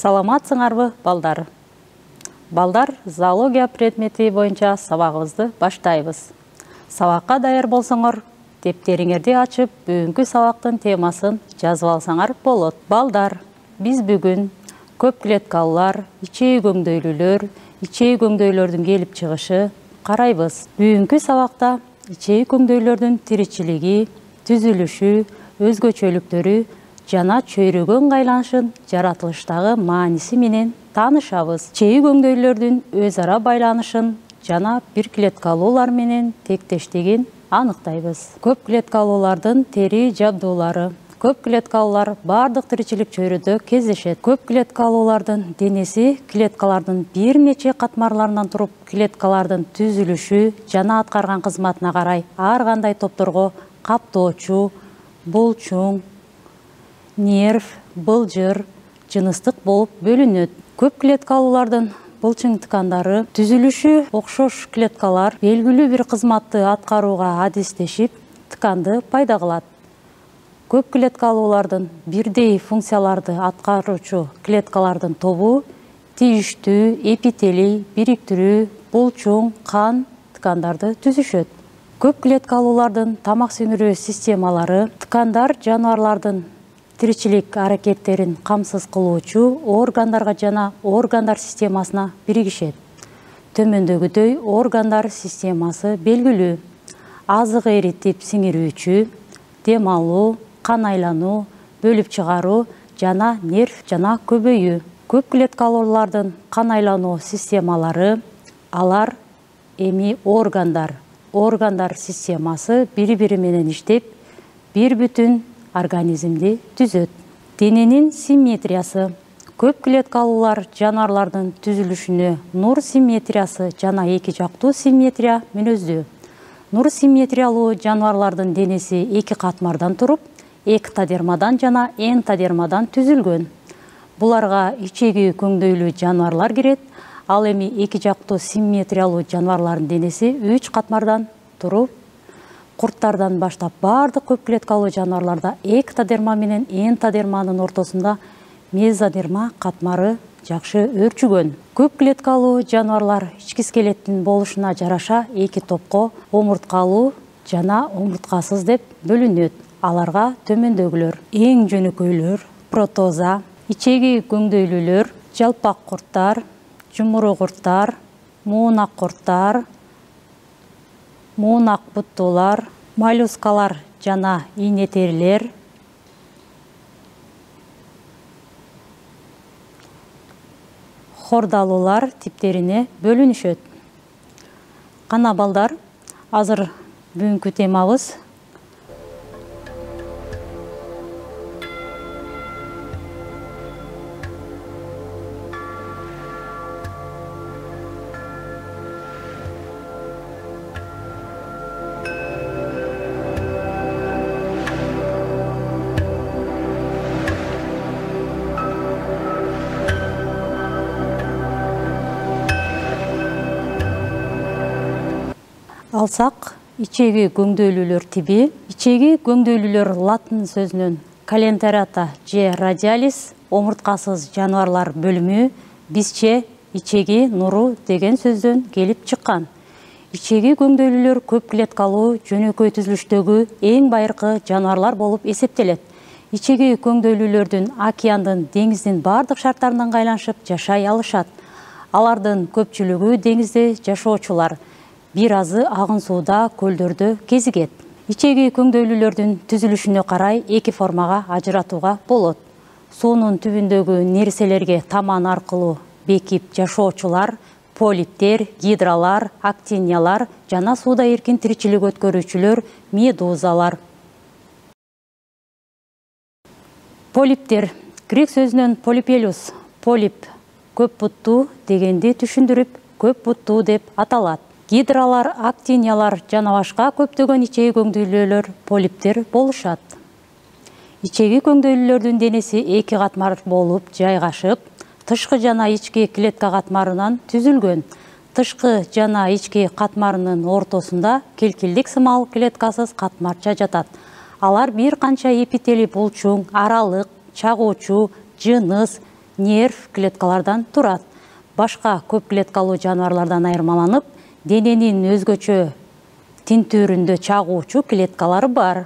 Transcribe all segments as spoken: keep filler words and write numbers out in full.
Саламатсыңарбы, балдар? Балдар, зоология предмети боюнча сабагыбызды баштайбыз. Сабакка даяр болсоңор, дептериңерди ачып, бүгүнкү сабактын темасын жазып алсаңар болот. Балдар, биз бүгүн көп клеткалуулар, ичеги көңдөйлүүлөр, ичеги көңдөйлөрдүн келип чыгышы карайбыз. Бүгүнкү сабакта ичеги көңдөйлөрдүн тиричилиги, түзүлүшү, өзгөчөлүктөрү жана чөйрөгөн айланышын жаратылыштагы мааниси менен таанышабыз. Ичеги көңдөйлөрдүн өз ара байланышын жана бир клеткалуулар менен тектештигин аныктайбыз. Көп клеткалуулардын тери жабдуулары. Көп клеткалуулар бардык тиричилик чөйрөдө кездешет. Көп клеткалуулардын денеси клеткалардын бир нече катмарларынан туруп, клеткалардын түзүлүшү жана аткарган кызматына карай ар кандай топторго каптоочу, булчуң, нерв, былжыр, жыныстык болуп бөлүнөт. Көп клеткалуулардын булчуң ткандары түзүлүшү окшош клеткалар белгилүү бир кызматты аткарууга адистешип, тканды пайда кылат. Көп клеткалуулардын бирдей функцияларды аткаруучу клеткалардын тобу тийиштүү, эпителий, бириктирүү, булчуң, кан ткандарды түзүшөт. Көп клеткалуулардын тамак сіңирүү системалары ткандар жаныбарлардын тиричилик аракеттерин камсыз кылуучу органдарга жана органдар системасына биригишет. Төмөндөгүдөй органдар системасы белгилүү: азык эритип сиңирүүчү, дем алуу, кан айлануу, бөлүп чыгаруу жана нерв жана көбөйүү. Көп клеткалуулардын кан айлануу системалары, алар эми органдар. Органдар системасы бири-бири менен иштеп, бир бүтүн организмди түзөт. Дененин симметриясы. Көп клеткалуулар жаныбарлардын түзүлүшүнө нур симметриясы жана эки жактуу симметрия мүнөздүү. Нур симметриялуу жаныбарлардын денеси эки катмардан туруп, эктодермадан жана энтодермадан түзүлгөн. Буларга ичеги көңдөйлүү жаныбарлар кирет, ал эми эки жактуу симметриялуу жаныбарлардын денеси үч катмардан туруп, курттардан баштап бардык көп клеткалуу жаныбарларда эктодерма менен энтодерманын ортосунда мезодерма катмары жакшы өрчүгөн. Көп клеткалуу жаныбарлар ички скелеттин болушуна жараша эки топко омурткалуу жана омурткасыз деп бөлүнөт. Аларга төмөндөгүлөр: эң жөнөкөйлөр, протоза, ичеги көңдөйлүүлөр, жалпак курттар, жумуру курттар, муунак курттар, муунак буттуулар, моллюскалар жана ийне терилер, хордалуулар типтерине бөлүнүшөт. Кана балдар, азыр бүгүнкү темабыз алсак, ичеги көңдөйлүүлөр тиби. Ичеги көңдөйлүүлөр латын сөзүнөн калентерата же радиалис, омурткасыз жаныбарлар бөлүмү, бизче ичеги нуру деген сөздөн келип чыккан. Ичеги көңдөйлүүлөр көп клеткалуу, жөнөкөй түзүлүштөгү эң байыркы жаныбарлар болуп эсептелет. Ичеги көңдөйлүүлөрдүн океандын, деңиздин бардык шарттарынан айланышып жашай алышат. Алардын көпчүлүгү деңизде жашоочулар. Бир азы агын сууда, көлдөрдө кезигет. Ичеги көңдөйлүүлөрдүн түзүлүшүнө карай эки формага ажыратууга болот. Суунун түбүндөгү нерселерге таман аркылуу бекип жашоочулар, полиптер, гидралар, актиниялар жана сууда эркин тиричилик өткөрүүчүлөр, медузалар. Полиптер грек сөзүнөн полипелус, полип, көп буттуу дегенди түшүндүрүп, көп буттуу деп аталат. Гидралар, актиниялар жана башка көптөгөн ичеги көңдөйлүүлөр полиптер болушат. Ичеги көңдөйлүүлөрдүн денеси эки катмар болуп жайгашып, тышкы жана ички клетка катмарынан түзүлгөн. Тышкы жана ички катмарынын ортосунда келкилдик сымал клеткасыз катмарча жатат. Алар бир канча эпителий булчуң, аралык, чагуучу, жыныс, нерв клеткалардан турат. Башка көп клеткалуу жаныбарлардан айырмаланып, дененин өзгөчө тинтүүрүндө чагуучу клеткалары бар.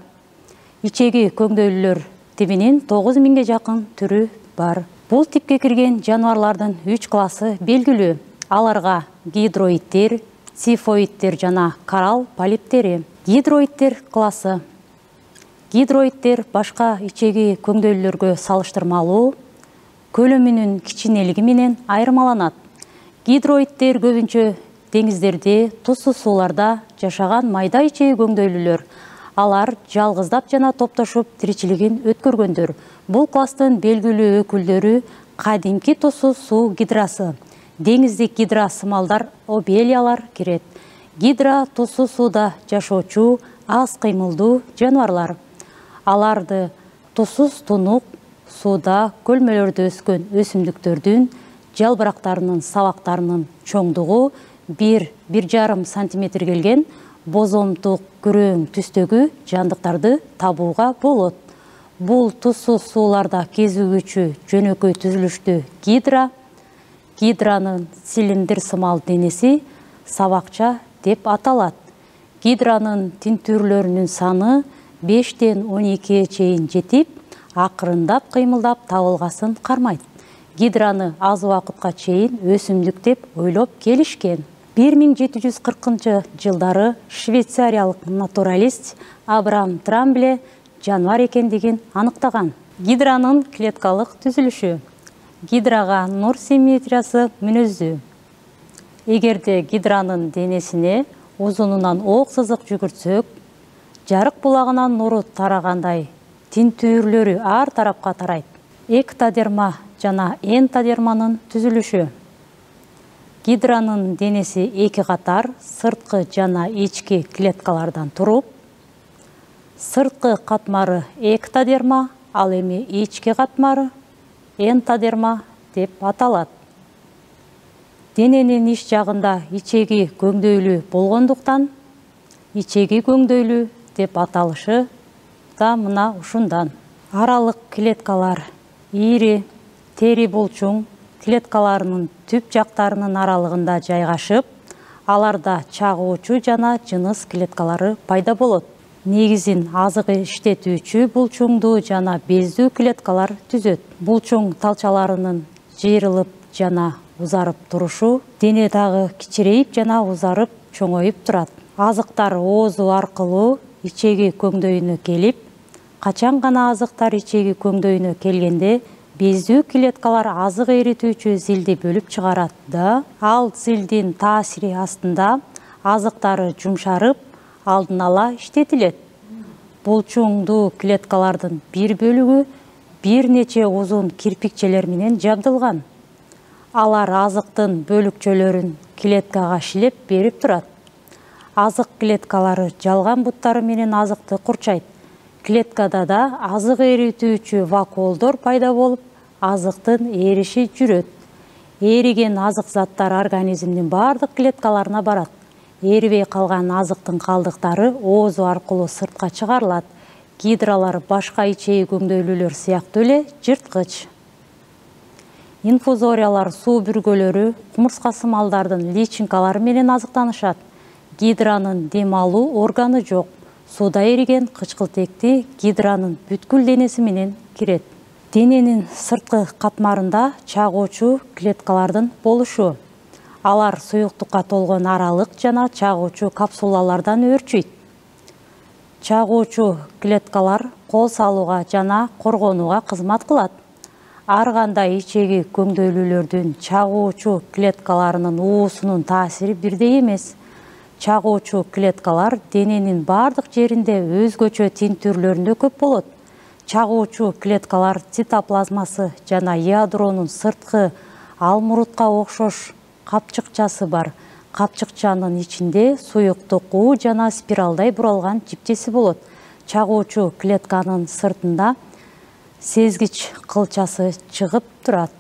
Ичеги көңдөйлүлөр тибинин тогуз миңге жакын түрү бар. Бул типке кирген жаныбарлардын үч классы белгилүү. Аларга гидроидтер, цифоидтер жана коралл полиптери. Гидроидтер классы. Гидроидтер башка ичеги көңдөйлүлөргө салыштырмалуу көлөмүнүн кичинелиги менен айырмаланат. Гидроидтер көбүнчө деңиздерде, тузсуз сууларда жашаган майда ичеги көңдөйлүлөр. Алар жалгыздап жана топтошуп тиричилигин өткөргөндөр. Бул класстын белгилүү өкүлдөрү кадимки тузсуз суу гидрасы, деңиздик гидра сымалдар, обелиялар кирет. Гидра тузсуз сууда жашоочу, аз кыймылдуу жаныбарлар. Аларды тузсуз тунук сууда көлмөлөрдө өскөн өсүмдүктөрдүн жалбырактарынын сабактарынын чоңдугу бир бир жарым сантиметр келген бозомтук күрөң түстөгү жандыктарды табууга болот. Бул тузсуз сууларда кезигүүчү жөнөкөй түзүлүштүү гидра, гидранын цилиндр сымал денеси сабакча деп аталат. Гидранын тинтүүрлөрүнүн саны бештен он экиге чейин жетип, акырындап кыймылдап табылгасын кармайт. Гидраны аз убакытка чейин өсүмдүк деп ойлоп келишкен. бир миң жети жүз кыркынчы жылдары швейцариялык натуралист Абрам Трамбле жаныбар экендигин аныктаган. Гидранын клеткалык түзүлүшү. Гидрага нур симметриясы мүнөздүү. Эгерде гидранын денесине узунунан ок сызык жүгүртсөк, жарык булагынан нуру тарагандай тинтүүрлөрү ар тарапка тарайт. Эктодерма жана энтодерманын түзүлүшү. Гидранын денеси эки катар сырткы жана ички клеткалардан туруп, сырткы катмары эктодерма, ал эми ички катмары энтодерма деп аталат. Дененин ич жагында ичеги көңдөйлүү болгондуктан ичеги көңдөйлүү деп аталышы да мына ушундан. Аралык клеткалар ири, тери булчуң клеткаларынын түп жактарынын аралыгында жайгашып, аларда чагуучу жана жыныс клеткалары пайда болот. Негизин азык иштетүүчү булчуңдуу жана бездүү клеткалар түзөт. Булчуң талчаларынын жыйрылып жана узарып турушу денедагы кичирейип жана узарып чоңоюп турат. Азыктар оозу аркылуу ичеги көңдөйүнө келип, качан гана азыктар ичеги көңдөйүнө келгенде бездүү клеткалар азык эритүүчү зилди бөлүп чыгарат да, ал зилдин таасири астында азыктары жумшарып, алдын ала иштетилет. Булчуңдуу клеткалардын бир бөлүгү бир нече узун кирпикчелер менен жабдылган. Алар азыктын бөлүкчөлөрүн клеткага шилеп берип турат. Азык клеткалары жалган буттары менен азыкты курчайт. Клеткада да азык эритүүчү вакуолдор пайда болуп, азыктын эриши жүрөт. Эриген азык заттар организмдин бардык клеткаларына барат. Эрибей калган азыктын калдыктары оозу аркылуу сыртка чыгарылат. Гидралар башка ичеги көңдөйлүлөр сыяктуу эле жырткыч. Инфузориялар суу бүргөлөрү кумурска сымалдардын личинкалары менен азыктанышат. Гидранын дем алуу органы жок. Сууда эриген кычкылтекти гидранын бүткүл денеси менен кирет. Дененин сырткы катмарында чагуучу клеткалардын болушу. Алар суюктукка толгон аралык жана чагуучу капсулалардан өөрчүйт. Чагуучу клеткалар кол салууга жана коргонууга кызмат кылат. Ар кандай ичеги көңдөйлүлөрдүн чагуучу клеткаларынын уусунун таасири бирдей эмес. Чагуучу клеткалар дененин бардык жеринде өзгөчө тинтүүрлөрүндө көп болот. Чагуучу клеткалар цитоплазмасы жана ядронун сырткы алмурутка окшош капчыкчасы бар. Капчыкчанын ичинде суюктук уу жана спиралдай буралган жипчеси болот. Чагуучу клетканын сыртында сезгич кылчасы чыгып турат.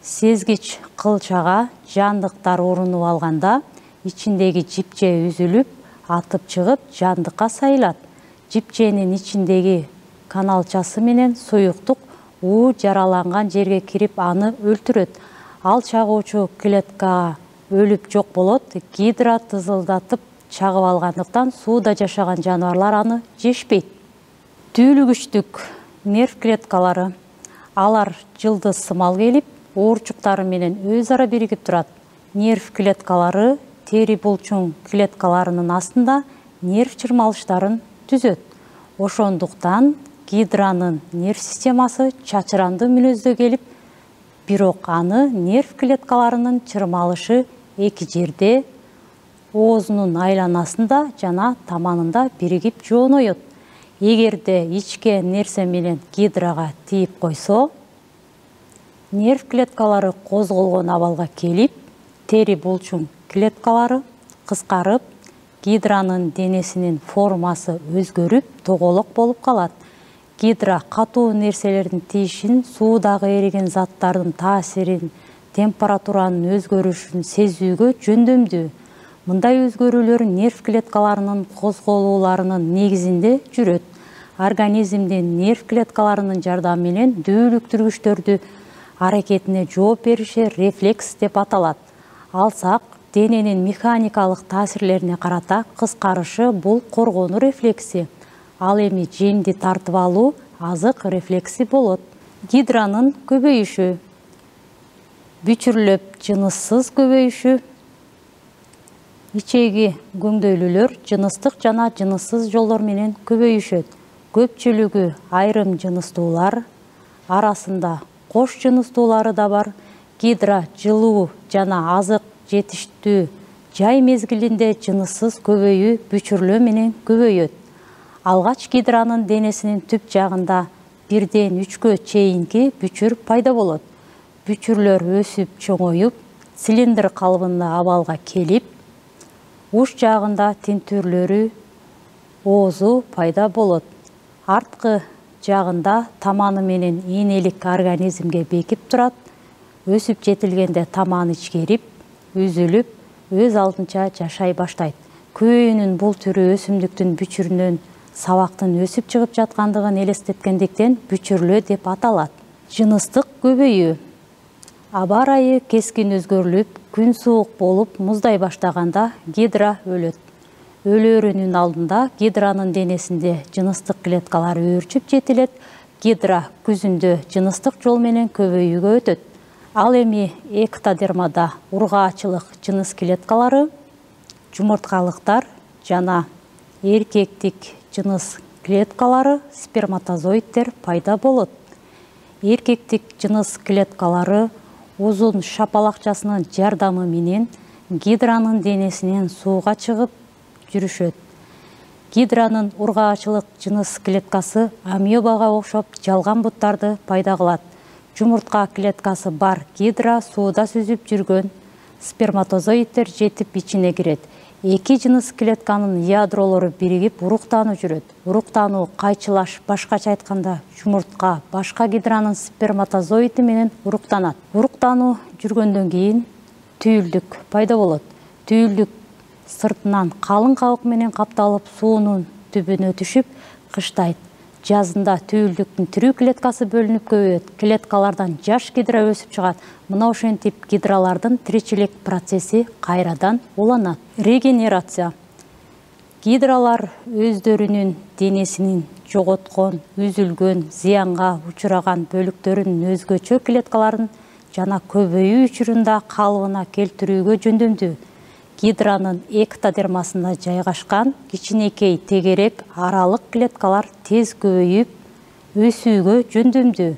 Сезгич кылчага жандыктар орунуп алганда ичиндеги жипче үзүлүп, атып чыгып, жандыкка сайылат. Жипченин ичиндеги каналчасы менен суюктук уу жараланган жерге кирип аны өлтүрөт. Ал чагуучу клеткага өлүп жок болот. Гидра тызылдатып чагып алгандыктан сууда жашаган жаныбарлар аны жешпейт. Түүлүгүчтүк нерв клеткалары. Алар жылдыз сымал келип, оорчуктары менен өз ара биригип турат. Нерв клеткалары тери булчуң клеткаларынын астында нерв чырмалыштарын түзөт. Ошондуктан гидранын нерв системасы чачыранды мүнөздө келип, бирок аны нерв клеткаларынын чырмалышы эки жерде, оозунун айланасында жана таманында биригип жооноет. Эгерде ичке нерсе менен гидрага тийип койсо, нерв клеткалары козголгон абалга келип, тери булчуң клеткалары кыскарып, гидранын денесинин формасы өзгөрүп, тоголок болуп калат. Гидра катуу нерселердин тийишин, суудагы эриген заттардын таасирин, температуранын өзгөрүшүн сезүүгө жөндөмдүү. Мындай өзгөрүүлөр нерв клеткаларынын козголууларынын негизинде жүрөт. Организмдин нерв клеткаларынын жардамы менен дүүлүктүргүчтөрдү аракетине жооп бериши рефлекс деп аталат. Алсак, дененин механикалык таасирлерине карата кыскарышы бул коргонуу рефлекси. Ал эми жемди тартып алуу азык рефлекси болот. Гидранын көбөйүшү. Бүчүрлөп жыныссыз көбөйүшү. Ичеги көңдөйлүүлөр жыныстык жана жыныссыз жолдор менен көбөйүшөт. Көпчүлүгү айрым жыныстуулар арасында кош жыныстуулары да бар. Гидра жылуу жана азык жетиштүү жай мезгилинде жыныссыз көбөйүү бүчүрлөө менен көбөйөт. Алгач гидранын денесинин түп жагында бирден үчкө чейинки бүчүр пайда болот. Бүчүрлөр өсүп чоңоюп, цилиндр калыбында абалга келип, уч жагында тинтүрлөрү оозу пайда болот. Арткы жагында таманы менен ийнелик организмге бекип турат. Өсүп жетилгенде таманы ичкерип, үзүлүп, өз алдынча жашай баштайт. Көбөйүүнүн бул түрү өсүмдүктүн бүчүрүнөн сабактын өсүп чыгып жаткандыгын элестеткендиктен бүчүрлөө деп аталат. Жыныстык көбөйүү. Аба ырайы кескин өзгөрүлүп, күн суук болуп, муздай баштаганда гидра өлөт. Өлөөрүнүн алдында гидранын денесинде жыныстык клеткалар өөрчүп жетилет. Гидра күзүндө жыныстык жол менен көбөйүүгө өтөт. Ал эми эктодермада ургаачылык жыныс клеткалары, жумурткалыктар жана эркектик жыныс клеткалары, сперматозоидтер пайда болот. Эркектик жыныс клеткалары узун шапалакчасынын жардамы менен гидранын денесинен сууга чыгып жүрүшөт. Гидранын ургаачылык жыныс клеткасы амебага окшоп жалган буттарды пайда кылат. Жумуртка клеткасы бар гидра сууда сүзүп жүргөн сперматозоидтер жетип ичине кирет. Эки жыныс клетканын ядролору биригип уруктануу жүрөт. Уруктануу кайчылаш, башкача айтканда, жумуртка башка гидранын сперматозоиди менен уруктанат. Уруктануу жүргөндөн кийин түйүлдүк пайда болот. Түйүлдүк сыртынан калың кабык менен капталып, суунун түбүнө түшүп кыштайт. Жазында түйүлдүктүн тирүү клеткасы бөлүнүп көбөйөт. Клеткалардан жаш гидра өсүп чыгат. Мына ошентип гидралардын тиричилик процесси кайрадан уланат. Регенерация. Гидралар өздөрүнүн денесинин жоготкон, үзүлгөн, зыянга учураган бөлүктөрүнүн өзгөчө клеткаларын жана көбөйүү учурунда калыбына келтирүүгө жөндөмдүү. Гидранын эктодермасында жайгашкан кичинекей тегерек аралык клеткалар тез көбөйүп, өсүүгө жөндөмдүү.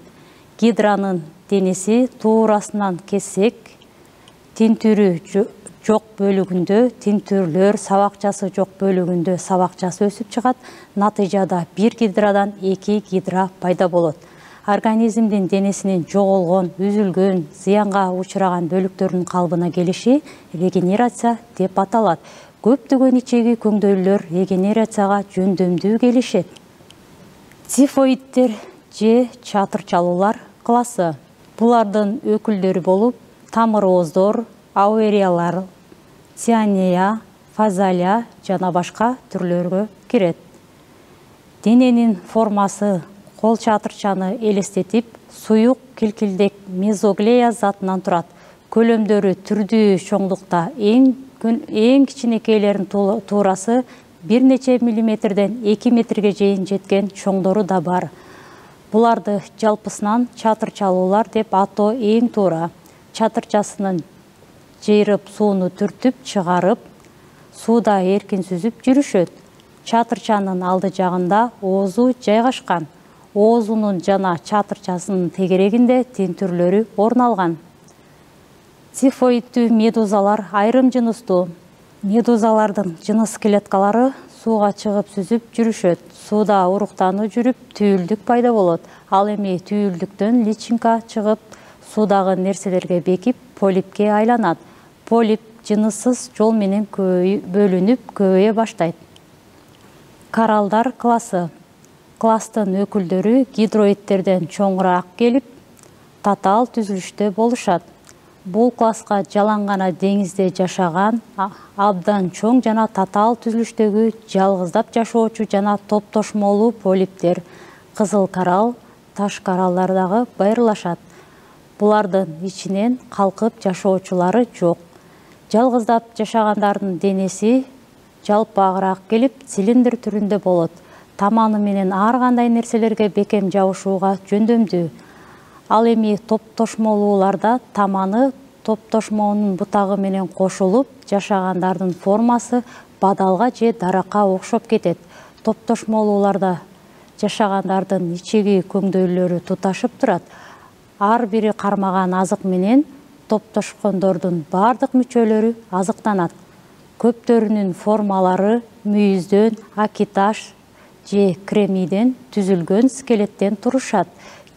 Гидранын денеси туурасынан кессек, тинтүрү жок бөлүгүндө тинтүрлөр, сабакчасы жок бөлүгүндө сабакчасы өсүп чыгат. Натыйжада бир гидрадан эки гидра пайда болот. Организмдин денесинин жоголгон, үзүлгөн, зыянга учураган бөлүктөрүнүн калыбына келиши регенерация деп аталат. Көптөгөн ичеги көңдөйлүүлөр регенерацияга жөндөмдүү келишет. Цифоидтер же чатырчалуулар классы. Булардын өкүлдөрү болуп, тамыр ооздор, ауэриялар, цианея, фазалия жана башка түрлөргө кирет. Дененин формасы кол чатырчаны элестетип, суюк килкилдек мезоглея затынан турат. Көлөмдөрү түрдүү чоңдукта, эң эң кичинекейлердин туурасы бир нече миллиметрден эки метрге чейин жеткен чоңдору да бар. Буларды жалпысынан чатырчалуулар деп атоо эң туура. Чатырчасынын жыйрып сууну түртүп чыгарып, сууда эркин сүзүп жүрүшөт. Чатырчанын алды жагында оозу жайгашкан. Оозунун жана чатырчасынын тегерегинде тинтүрлөрү орун алган. Цифоидтүү медузалар айрым жыныстуу. Медузалардын жыныс клеткалары сууга чыгып сүзүп жүрүшөт. Сууда уруктануу жүрүп, түйүлдүк пайда болот. Ал эми түйүлдүктөн личинка чыгып, суудагы нерселерге бекип, полипке айланат. Полип жыныссыз жол менен бөлүнүп, көбөйө баштайт. Коралдар классы. Класстын өкүлдөрү гидроидтерден чоңураак келип, татаал түзүлүштө болушат. Бул класска жалаң гана деңизде жашаган, абдан чоң жана татаал түзүлүштөгү жалгыздап жашоочу жана топтошмолуу полиптер, кызыл коралл, таш кораллар дагы байырлашат. Булардын ичинен калкып жашоочулары жок. Жалгыздап жашагандардын денеси жалпаагыраак келип, цилиндр түрүндө болот. Таманы менен ар кандай нерселерге бекем жабышууга жөндөмдүү. Ал эми топтошмолууларда таманы топтошмонун бутагы менен кошулуп, жашагандардын формасы бадалга же даракка окшоп кетет. Топтошмолууларда жашагандардын ичеги көңдөйлөрү туташып турат. Ар бири кармаган азык менен топтошкондордун бардык мүчөлөрү азыктанат. Көптөрүнүн формалары мүйүздөн, акиташ же кремийден түзүлгөн скелеттен турушат.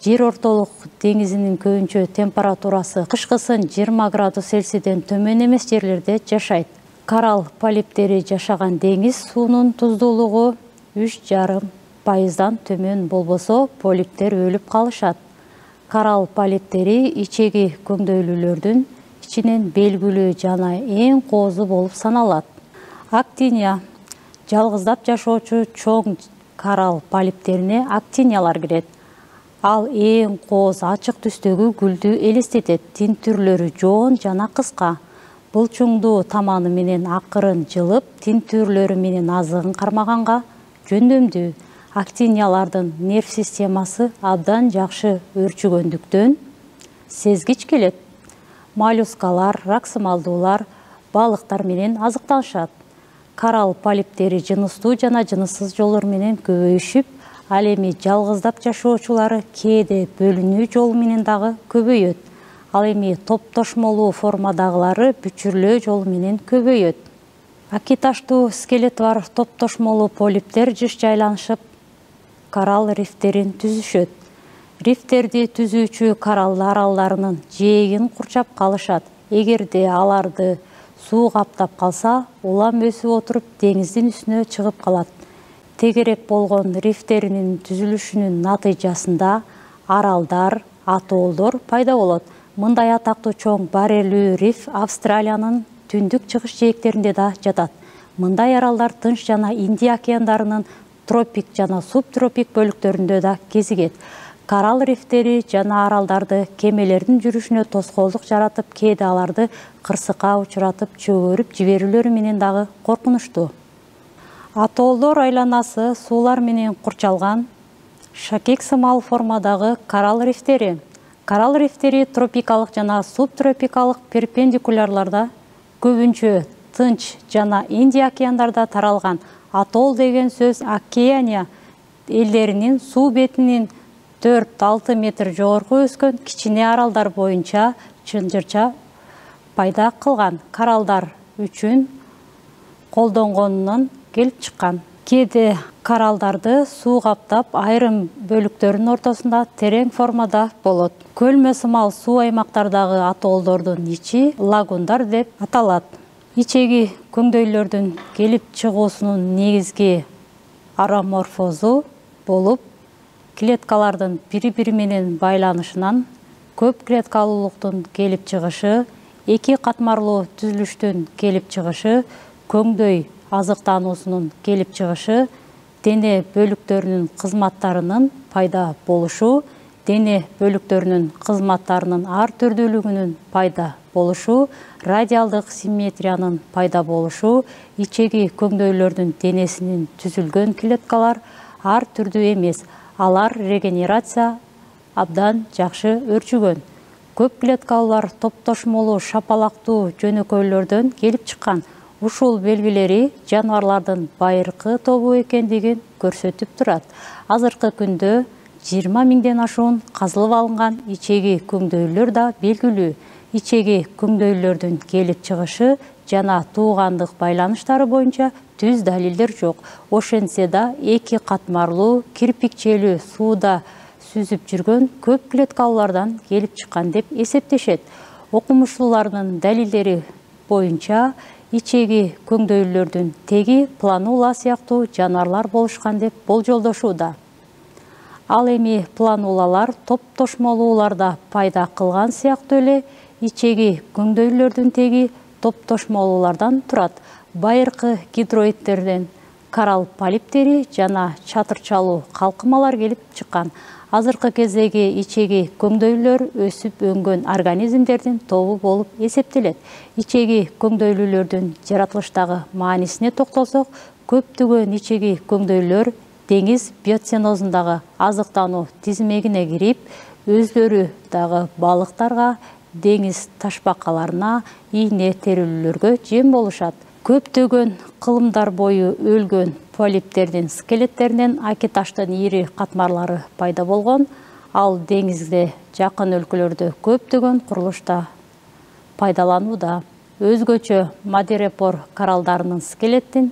Жер ортолук деңизинин көбүнчө температурасы кышкысын жыйырма градус Цельсийден төмөн эмес жерлерде жашайт. Коралл полиптери жашаган деңиз суунун туздуулугу үч жарым пайыздан төмөн болбосо, полиптер өлүп калышат. Коралл полиптери ичеги көңдөйлүүлөрдүн ичинен белгилүү жана эң коозу болуп саналат. Актиния. Жалгыздап жашоочу чоң коралл полиптерине актиниялар кирет. Ал эң кооз ачык түстөгү гүлдү элестетет. Тинтүрлөрү жоон жана кыска. Булчуңдуу таманы менен акырын жылып, тинтүрлөрү менен азыгын кармаганга жөндөмдүү. Актиниялардын нерв системасы абдан жакшы өрчүгөндүктөн сезгич келет. Моллюскалар, раксымалдуулар, балыктар менен азыктанышат. Коралл полиптери жыныстуу жана жыныссыз жолдор менен көбөйүшүп, ал эми жалгыздап жашоочулары кээде бөлүнүү жолу менен дагы көбөйөт. Ал эми топтошмолуу формадагылары бүчүрлөө жолу менен көбөйөт. Акиташтуу скелети бар топтошмолуу полиптер жыш жайланышып, коралл рифтерин түзүшөт. Рифтерди түзүүчү коралл аралдарынын жээгин курчап калышат. Эгерде аларды суу каптап калса, улам өсүп отуруп деңиздин үстүнө чыгып калат. Тегерек болгон рифтеринин түзүлүшүнүн натыйжасында аралдар, атолдор пайда болот. Мындай атактуу чоң баррелүү риф Австралиянын түндүк чыгыш жээктеринде да жатат. Мындай аралдар Тынч жана Индия океандарынын тропик жана субтропик бөлүктөрүндө да кезигет. Коралл рифтери жана аралдарды кемелердин жүрүшүнө тоскоолдук жаратып, кээде аларды кырсыкка учуратып, чөгөрүп жиберүүлөрү менен дагы коркунучтуу. Атолдор айланасы суулар менен курчалган шакек сымал формадагы коралл рифтери. Коралл рифтери тропикалык жана субтропикалык перпендикулярларда, көбүнчө Тынч жана Индия океандарда таралган. Атол деген сөз Океания элдеринин суу бетинин төрт-алты метр жогорку өскөн кичине аралдар боюнча чынжырча пайда кылган кораллдар үчүн колдонгонунан келип чыккан. Кээде кораллдарды суу каптап, айрым бөлүктөрүнүн ортосунда терең формада болот. Көлмө сымал суу аймактардагы атолдордун ичи лагундар деп аталат. Ичеги көңдөйлөрдүн келип чыгуусунун негизги ароморфозу болуп, клеткалардын бири-бири менен байланышынан, көп клеткалуулуктун келип чыгышы, эки катмарлуу түзүлүштүн келип чыгышы, көңдөй азыктануусунун келип чыгышы, дене бөлүктөрүнүн кызматтарынын пайда болушу, дене бөлүктөрүнүн кызматтарынын ар түрдүүлүгүнүн пайда болушу, радиалдык симметриянын пайда болушу, ичеги көңдөйлөрдүн денесинин түзүлгөн клеткалар ар түрдүү эмес, алар регенерация абдан жакшы өрчүгөн. Көп клеткалар топтошмолуу шапалактуу жөнөкөйлөрдөн келип чыккан. Ушул белгилери жаныбарлардын байыркы тобу экендигин көрсөтүп турат. Азыркы күндө жыйырма миңден ашуун казылып алынган ичеги көңдөйлөр да белгилүү. Ичеги көңдөйлөрдүн келип чыгышы жана туугандык байланыштары боюнча түз далилдер жок. Ошентсе да эки катмарлуу кирпикчелүү сууда сүзүп жүргөн көп клеткалардан келип чыккан деп эсептешет. Окумуштуулардын далилдери боюнча ичеги көңдөйлөрдүн теги планула сыяктуу жаныбарлар болушкан деп болжолдошууда. Ал эми планулалар топтошмолууларда пайда кылган сыяктуу эле ичеги көңдөйлөрдүн теги топтошмолуулардан турат. Байыркы гидроидтерден коралл полиптери жана чатырчалуу калкымалар келип чыккан. Азыркы кездеги ичеги көңдөйлөр өсүп өнгөн организмдердин тобу болуп эсептелет. Ичеги көңдөйлүүлөрдүн жаратылыштагы маанисине токтолсок, көптөгөн ичеги көңдөйлөр деңиз биоценозундагы азыктануу тизмегине кирип, өзлөрү дагы балыктарга, деңиз ташбакаларына, ийне терилүүлөргө жем болушат. Көптөгөн кылымдар бою өлгөн полиптердин скелеттеринен акиташтын ири катмарлары пайда болгон. Ал деңизге жакын өлкөлөрдө көптөгөн курулушта пайдаланууда. Өзгөчө мадерепор коралдарынын скелеттин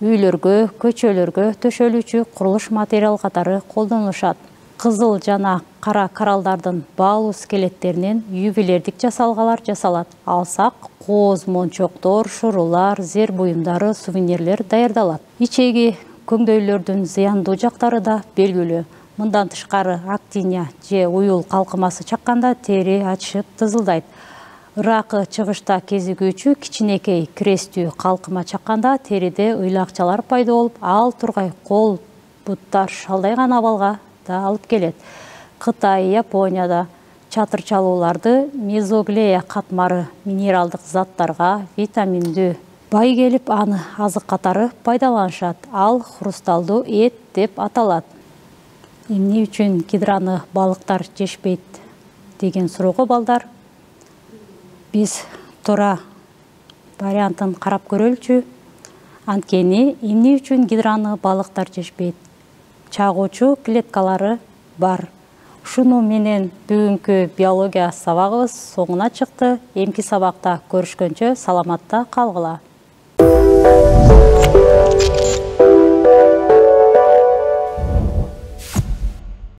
үйлөргө, көчөлөргө төшөлүүчү курулуш материал катары колдонулушат. Кызыл жана кара коралдардын баалуу скелеттеринен ювелирдик жасалгалар жасалат. Алсак, кооз мончоктор, шурулар, зер буюмдары, сувенирлер даярдалат. Ичеги көңдөйлөрдүн зыяндуу жактары да белгилүү. Мындан тышкары актиния же уюл калкымасы чакканда тери ачышып тызылдайт. Ыракы чыгышта кезигүүчү кичинекей крестүү калкыма чакканда териде ыйлакчалар пайда болуп, ал тургай кол, буттар шалдайган абалга да алып келет. Кытай, Японияда чатырчалууларды мезоглея катмары минералдык заттарга, витаминдүү бай келип, аны азык катары пайдаланышат. Ал хрусталдуу эт деп аталат. Эмне үчүн гидраны балыктар жешпейт деген суроого балдар, биз туура вариантын карап көрөлүчү. Анткени эмне үчүн гидраны балыктар жешпейт? Чагуучу клеткалары бар. Ушуну менен бүгүнкү биология сабагыбыз соңуна чыкты. Эмки сабакта көрүшкөнчө саламатта калгыла.